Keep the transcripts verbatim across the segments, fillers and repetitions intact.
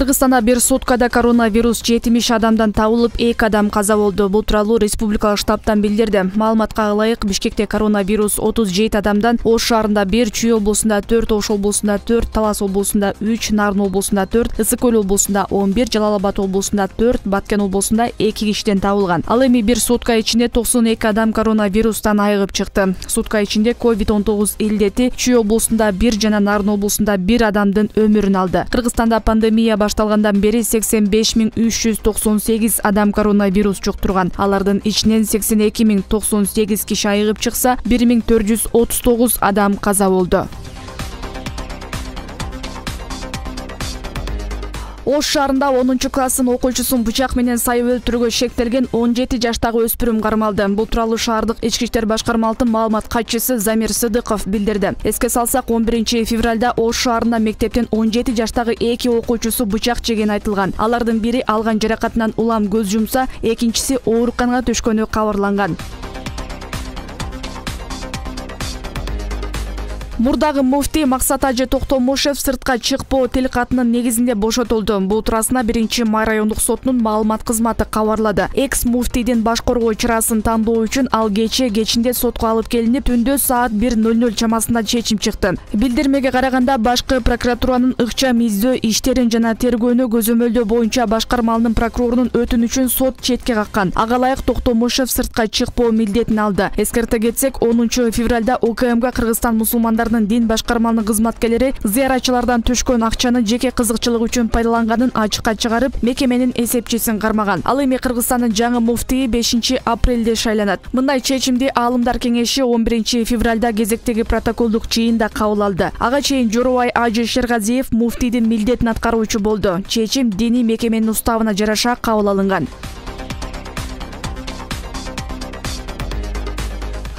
Кыргызстанда бир суткада коронавирус жетимиш адамдан табылып, эки адам каза болду. Бул тууралуу республикалык штабтан билдирди. Маалыматка ылайык, Бишкекте коронавирус отуз жети адамдан, Ош шаарында бир, Чүй облусунда төрт, Ош облусунда төрт, Талас облусунда үч, Нарын облусунда төрт, Ысык Көл облусунда он бир, Жалал Абад облусунда төрт, Баткен облусунда эки кишиден табылган. Ал эми бир сутка ичинде токсон эки адам коронавирустан айыгып чыкты. Сутка ичинде ковид он тогуз илдети Чүй облусунда бир жана Нарын облусунда бир адамдын өмүрүн алды. Кыргызстанда пандемия башталгандан бери сексен беш миң үч жүз токсон сегиз адам коронавирус жуктурган. Алардын ичинен сексен эки миң токсон сегиз киши айыгып чыкса, бир миң төрт жүз отуз тогуз адам каза болду. Ош шаарында онунчу класстын окуучусун бычак менен сайып өлтүрүүгө шектелген он жети жаштагы өспүрүм кармалды. Бул тууралуу шаардык ички иштер башкармалыктын маалымат катчысы Замир Сыдыков билдирди. Эске салсак, он биринчи февралда Ош шаарында мектептен он жети жаштагы эки окуучусу бычак жеген айтылган. Алардын бири алган жаракатынан улам көз жумса, экинчиси ооруканага түшкөнү кабарланган. Мурдагы муфтий Максат Ажы Токтомушев сыртка чыкпоо тил катынын негизинде бошотулду. Бул туурасында биринчи май райондук сотунун маалымат кызматы кабарлады. Экс муфтийдин баш коргоо чырасын тандоо үчүн ал кече кечинде сотко алып келинип, түндө саат бир ноль ноль чамасында чечим чыкты. Билдирмеге караганда, башкы прокуратуранын ыкчам издөө иштерин жана тергөөнү көзөмөлдөө боюнча башкармалынын прокурорунун өтүнүчүн сот четке каккан. Ага ылайык Токтомушев сыртка чыкпоо милдетин алды. Эскерте кетсек, онунчу февралда УКМК Кыргызстан мусулмандар дин башкармалынын кызматкерлери зыяратчылардан түшкөн акчаны жеке кызыкчылык үчүн пайдаланганын ачыкка чыгарып, мекеменин эсепчисин кармаган. Ал эми Кыргызстандын жаңы муфтийи бешинчи апрелде шайланат. Мындай чечимди Аалымдар кеңеши он биринчи февралда кезектеги протоколдук жыйында кабыл алды. Ага чейин Жоробай Ажы Шергазиев муфтийдин милдетин аткаруучу болду. Чечим диний мекеменин уставына жараша кабыл алынган.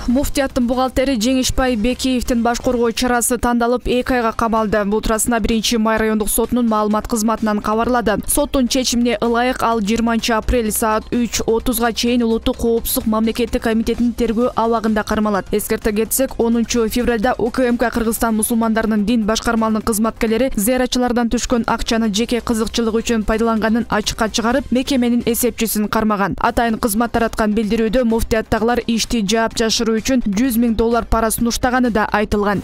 Муфтияттын бухгалтери Жеңишбай Бекиевдин баш коргоо чарасы тандалып, эки айга камалды. Бул туурасында биринчи май райондук сотунун маалымат кызматынан кабарлады. Соттун чечимине ылайык ал жыйырманчы апрель саат үч отузга чейин Улуттук коопсуздук мамлекеттик комитетинин тергөө абагында кармалат. Эскерте кетсек, онунчу февралда УКМК Кыргызстан мусулмандарынын дин башкармалынын кызматкерлери зыяратчылардан түшкөн акчаны жеке кызыкчылык үчүн пайдаланганын ачыкка чыгарып, мекеменин эсепчисин кармаган. Атайын кызмат тараткан билдирүүдө муфтияттагылар ишти жаап жашыруу үчүн жүз миң доллар пара сунуштаганы да айтылган.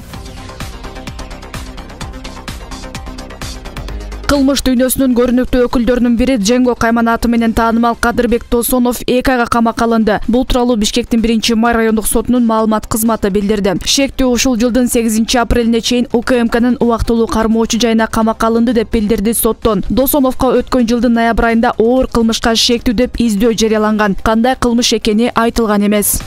Кылмыш дүйнөсүнүн көрүнүктүү өкүлдөрүнүн бири Дженго Кайман аты менен таанымал Кадырбек Досонов эки айга камакка алынды. Бул тууралуу Бишкектин биринчи май райондук сотунун маалымат кызматы билдирди. Шектүү ушул жылдын сегизинчи апрелине чейин УКМКнын убактылуу кармоочу жайына камакка алынды деп билдирди соттон. Досоновго өткөн жылдын ноябрь айында оор кылмышка шектүү деп издөө жарыяланган. Кандай кылмыш экени айтылган эмес.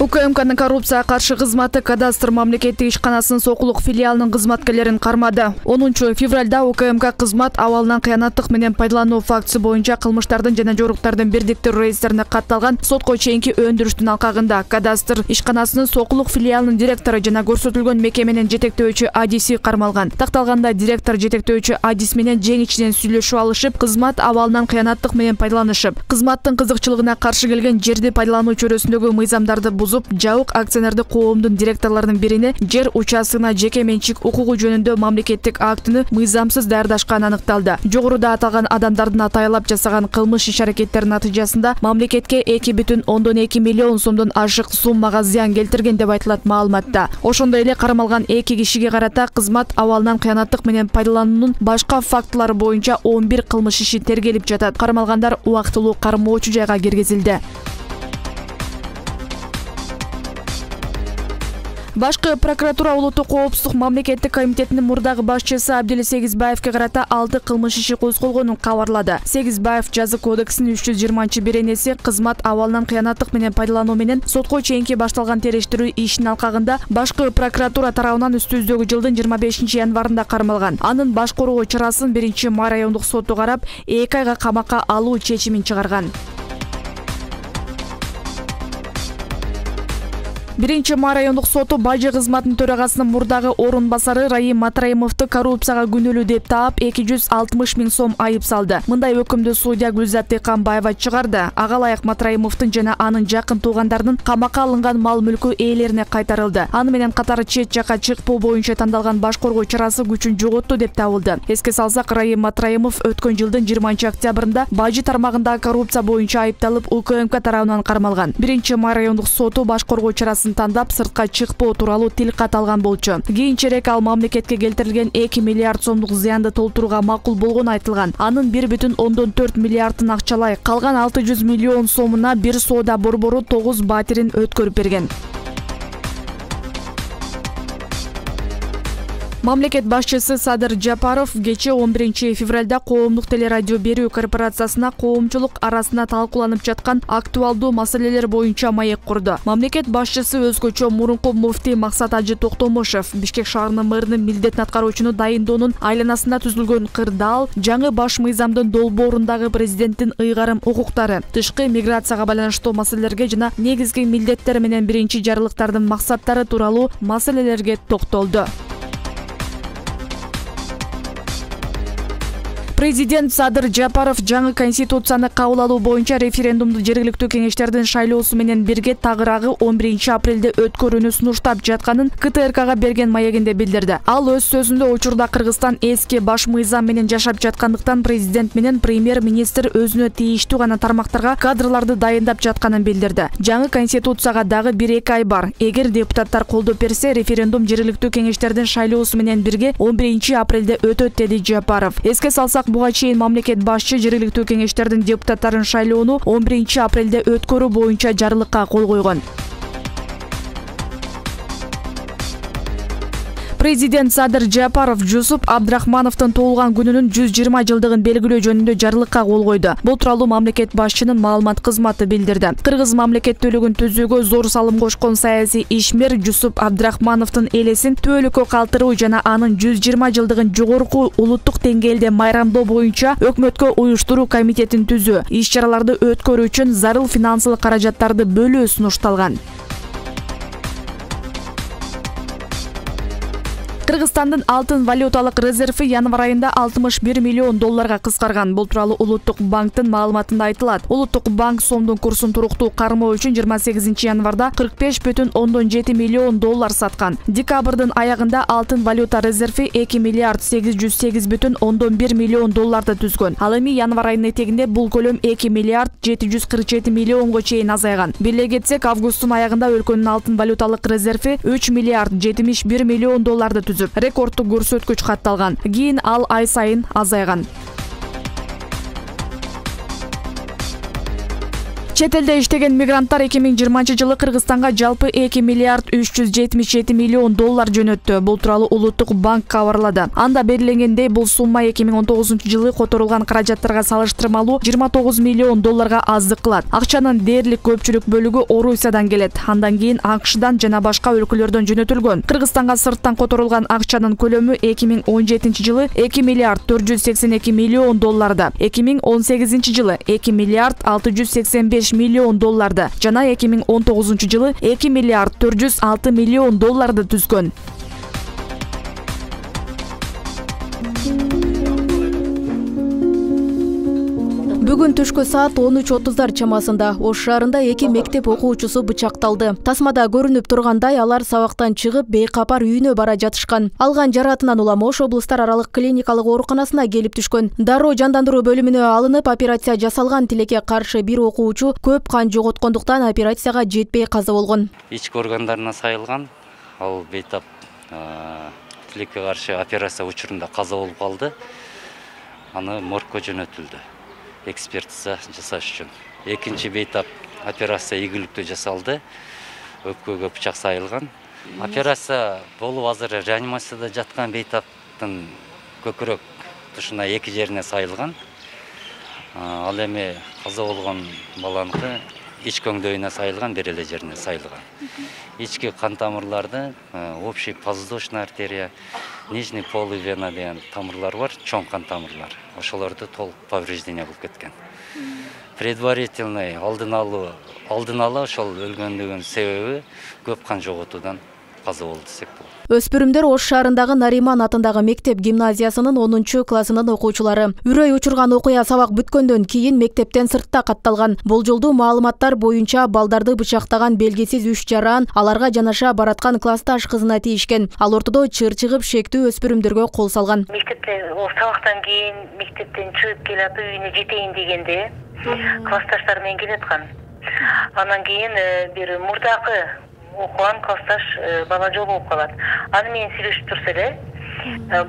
УКМКнын коррупцияга каршы кызматы кадастр мамлекеттик ишканасынын Сокулук филиалынын кызматкерлерин кармады. онунчу февралда УКМК кызмат абалынан кыянаттык менен пайдалануу фактысы боюнча кылмыштардын жана жоруктардын бирдиктүү реестрине катталган сотко чейинки өндүрүштүн алкагында кадастр ишканасынын Сокулук филиалынын директору жана көрсөтүлгөн мекеменин жетектөөчү адиси кармалган. Такталганда директор жетектөөчү адис менен жең ичинен сүйлөшүп алышып, кызмат абалынан кыянаттык менен пайдаланышып, кызматтын кызыкчылыгына каршы келген жерди пайдалануу чөйрөсүндөгү мыйзамдарды бузуп, жабык акционердик коомдун директорлорунун бирине жер участкына жеке менчик укугу жөнүндө мамлекеттик актыны мыйзамсыз даярдашканы аныкталды. Жогоруда аталган адамдардын атайлап жасаган кылмыш иш-аракеттеринин натыйжасында мамлекетке эки бүтүн ондон эки миллион сомдон ашык суммага зыян келтирген деп айтылат маалыматта. Ошондой эле кармалган эки кишиге карата кызмат абалынан кыянаттык менен пайдалануунун башка фактылары боюнча он бир кылмыш иши тергелип жатат. Кармалгандар убактылуу кармоочу жайга киргизилди. Башкы прокуратура Улуттук коопсуздук мамлекеттик комитетинин мурдагы башчысы Абдил Сегизбаевге карата алты кылмыш иши козголгонун кабарлады. Сегизбаев жаза кодексинин үч жүз жыйырманчы беренеси кызмат абалынан кыянаттык менен пайдалануу менен сотко чейинки башталган териштирүү ишинин алкагында башкы прокуратура тарабынан үстүбүздөгү жылдын жыйырма бешинчи январында кармалган. Анын баш коргоо чарасын биринчи май райондук соту карап, эки айга камакка алуу чечимин чыгарган. Биринчи май райондук соту Бажы кызматынын төрагасынын мурдагы орун басары Раим Матраимовду коррупцияга күнөөлүү деп таап эки жүз алтымыш миң сом айып салды. Мындай өкүмдү судья Гүлзат Тыканбаева чыгарды. Ага ылайык Матраимовдун жана анын жакын туугандарынын камакка алынган мал-мүлкү ээлерине кайтарылды. Аны менен катары чет жакка чыкпоо боюнча тандалган баш коргоо чарасы күчүн жоготту деп табылды. Эске салсак, Раим Матраимов өткөн жылдын жыйырманчы октябрында Бажы тармагындагы коррупция боюнча айыпталып УКМК тарабынан кармалган. Биринчи май райондук соту баш коргоо чарасын тандап сыртка чыкпоо тууралуу тил кат алган болчу. Кийинчерээк ал мамлекетке келтирилген эки миллиард сомдук зыянды толтурууга макул болгону айтылган. Анын бир бүтүн ондон төрт миллиардын акчалай, калган алты жүз миллион сомуна бир соода борбору тогуз батирин өткөрүп берген. Мамлекет башчысы Садыр Жапаров кечээ он биринчи февралда коомдук телерадио берүү корпорациясына коомчулук арасында талкууланып жаткан актуалдуу маселелер боюнча маек курду. Мамлекет башчысы өзгөчө мурунку муфтий Максат Ажы Токтомушев Бишкек шаарынын мэринин милдетин аткаруучуну дайындоонун айланасында түзүлгөн кырдаал, жаңы баш мыйзамдын долбоорундагы президенттин ыйгарым укуктары, тышкы миграцияга байланыштуу маселелерге жана негизги милдеттер менен биринчи жарылыктардын максаттары тууралуу маселелерге токтолду. Президент Садыр Жапаров жаңы конституцияны кабыл алуу боюнча референдумду жергиликтүү кеңештердин шайлоосу менен бирге тагыраагы он биринчи апрелде өткөрүүнү сунуштап жатканын КТРКга берген маегинде билдирди. Ал өз сөзүндө учурда Кыргызстан эски баш мыйзам менен жашап жаткандыктан президент менен премьер-министр өзүнө тийиштүү гана тармактарга кадрларды дайындап жатканын билдирди. Жаңы конституцияга дагы бир эки ай бар. Эгер депутаттар колдоп берсе, референдум жергиликтүү кеңештердин шайлоосу менен бирге он биринчи апрелде өтөт, деди Жапаров. Эске салсак, буга чейин мамлекет башчы жергиликтүү кеңештердин депутаттарын шайлоону он биринчи апрелде өткөрүү боюнча жарлыкка кол койгон. Президент Садыр Жапаров Жусуп Абдрахмановдун туулган күнүнүн жүз жыйырма жылдыгын белгилөө жөнүндө жарлыкка кол койду. Бул тууралуу мамлекет башчынын маалымат кызматы билдирди. Кыргыз мамлекеттүүлүгүн түзүүгө зор салым кошкон саясий ишмер Жусуп Абдрахмановдун элесин түбөлүккө калтыруу жана анын жүз жыйырма жылдыгын жогорку улуттук деңгээлде майрамдоо боюнча өкмөткө уюштуруу комитетин түзүү, иш-чараларды өткөрүү үчүн зарыл финансылык каражаттарды бөлүү сунушталган. Кыргызстандын алтын валюталык резерви январь айында алтымыш бир миллион долларга кыскарган. Бул тууралуу Улуттук банктын маалыматында айтылат. Улуттук банк сомдун курсун туруктуу кармоо үчүн жыйырма сегизинчи январда кырк беш бүтүн ондон жети миллион доллар саткан. Декабрдын аягында алтын валюта резерви эки миллиард сегиз жүз сегиз бүтүн ондон бир миллион долларды түзгөн. Ал эми январь айынын этегинде бул көлөм эки миллиард жети жүз кырк жети миллионго чейин азайган. Бирлей кетсек, августтун аягында өлкөнүн алтын валюталык резерви үч миллиард жетимиш бир миллион долларды түзүп, рекордтук көрсөткүч катталган. Кийин ал ай сайын азайган. Чет элде иштеген мигранттар эки миң жыйырманчы жылы Кыргызстанга жалпы эки миллиард үч жүз жетимиш жети миллион доллар жөнөттү. Бул тууралуу Улуттук банк кабарлады. Анда белгиленгендей, бул сумма эки миң он тогузунчу жылы которулган каражаттарга салыштырмалуу жыйырма тогуз миллион долларга аздык кылат. Акчанын дээрлик көпчүлүк бөлүгү Орусиядан келет. Андан кийин АКШдан жана башка өлкөлөрдөн жөнөтүлгөн. Кыргызстанга сырттан которулган акчанын көлөмү эки миң он жетинчи жылы эки миллиард төрт жүз сексен эки миллион долларда, эки миң он сегизинчи жылы эки миллиард алты жүз сексен беш миллион долларды жана эки миң он тогузунчу жылы эки миллиард төрт жүз алты миллион долларды түзгөн. Бүгүн түшкү саат он үч отуздар чамасында Ош шаарында эки мектеп окуучусу бычакталды. Тасмада көрүнүп тургандай, алар сабактан чыгып бейкапар үйүнө бара жатышкан. Алган жаратынан улам Ош облустар аралык клиникалык ооруканасына келип түшкөн. Дароо жандандыруу бөлүмүнө алынып операция жасалган. Тилекке каршы бир окуучу көп кан жоготкондуктан операцияга жетпей каза болгон. Ички органдарына сайылган. Ал бейтап тилекке каршы операция учурунда каза болуп калды. Аны моргко жөнөтүлдү. Экспертиза жасаш үчүн. Экинчи бейтап операция ийгиликтүү жасалды. Өпкөгө бычак сайылган. Операция болуп азыр реанимацияда жаткан бейтаптын көкүрөк тушуна эки жерине сайылган. Ал эми каза болгон баланыкы ички өңдөйүнө сайылган, бир эле жерине сайылган. Ички кан тамырларды, общий подвздошная артерия, нижний полый вена деген тамырлар бар, чоң кан тамырлар. Ошолорду толук повреждение болуп кеткен. предварительный алдын алуу алдын ала ошол өлгөндүгүнүн себеби көп кан жоготуудан каза болду десек болот. Өспүрүмдөр Ош шаарындагы Нариман атындагы мектеп гимназиясынын онунчу классынын окуучулары. Үрөй учурган окуя сабак бүткөндөн кийин мектептен сыртта катталган. Болжолдуу маалыматтар боюнча балдарды бычактаган белгисиз үч жаран аларга жанаша бараткан классташ кызына тийишкен. Ал ортодо чыр чыгып шектүү өспүрүмдөргө кол салган. Мектептен сабактан кийин мектептен чыгып келип үйүнө жетейин дегенде классташтар менен келаткан. Анан кийин бир мурдакы окуган классташ бала жолугуп калат. Аны менен сүйлөшүп турса эле,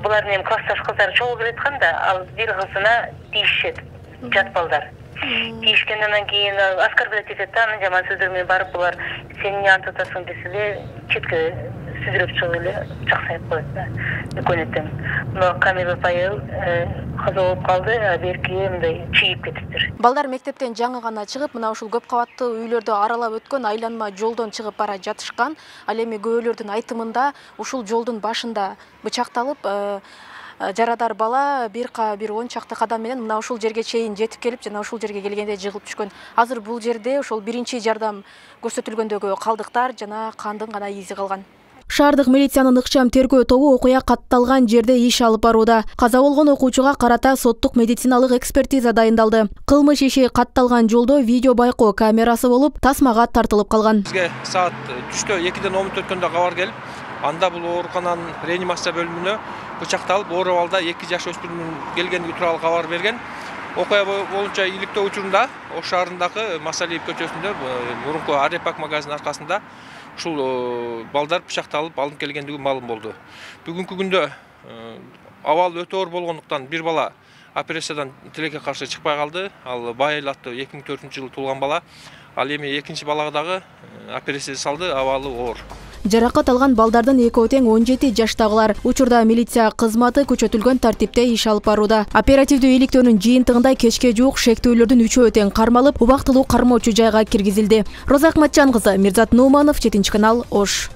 булардын эми классташ кыздар чогуу келаткан да, ал бир кызына тийишет, жат балдар. Тийишкенден кийин оскорблять этет да, анын жаман сөздөр менен барып булар сен эмне антип атасың десе эле четке сүзүрөп чыгып эле жаксайып коет да. Экөнөтөн. Мына Камил апайыл каза болуп калды, а берки мындай чыйып кетиптир. Балдар мектептен жаңы гана чыгып, мына ушул көп кабаттуу үйлөрдү аралап өткөн айланма жолдон чыгып бара жатышкан. Ал эми күбөлөрдүн айтымында ушул жолдун башында бычакталып, жарадар бала бир бир он чакты кадам менен мына ушул жерге чейин жетип келип, жана ушул жерге келгенде жыгылып түшкөн. Азыр бул жерде ошол биринчи жардам көрсөтүлгөндөгү калдыктар жана кандын гана изи калган. Шаардык милициянын ыкчам тергөө тобу окуя катталган жерде иш алып барууда. Каза болгон окуучуга карата соттук медициналык экспертиза дайындалды. Кылмыш иши катталган жолдо видео байкоо камерасы болуп, тасмага тартылып калган. Бизге саат түштө экиден он мүнөт өткөндө кабар келип, анда бул оорукананын реанимация бөлүмүнө бычакталып, оор абалда эки жаш өспүрүмүн келгендиги тууралуу кабар берген. Окуя боюнча иликтөө учурунда Ош шаарындагы Масалиев көчөсүндө мурунку Арепак магазинин аркасында ушул балдар бычакталып алынып келгендиги маалым болду. Бүгүнкү күндө абал өтө оор болгондуктан бир бала операциядан тилекке каршы чыкпай калды. Ал Байыл аттуу эки миң төртүнчү жылы туулган бала. Ал эми экинчи балага дагы операция салды, абалы оор. Жаракат алган балдардын экөө тең он жети жаштагылар. Учурда милиция кызматы күчөтүлгөн тартипте иш алып барууда. Оперативдүү иликтөөнүн жыйынтыгында кечке жуук шектүүлөрдүн үчөө тең кармалып, убактылуу кармоочу жайга киргизилди. Роза Акматжан кызы, Мирзат Нууманов, жетинчи канал, Ош.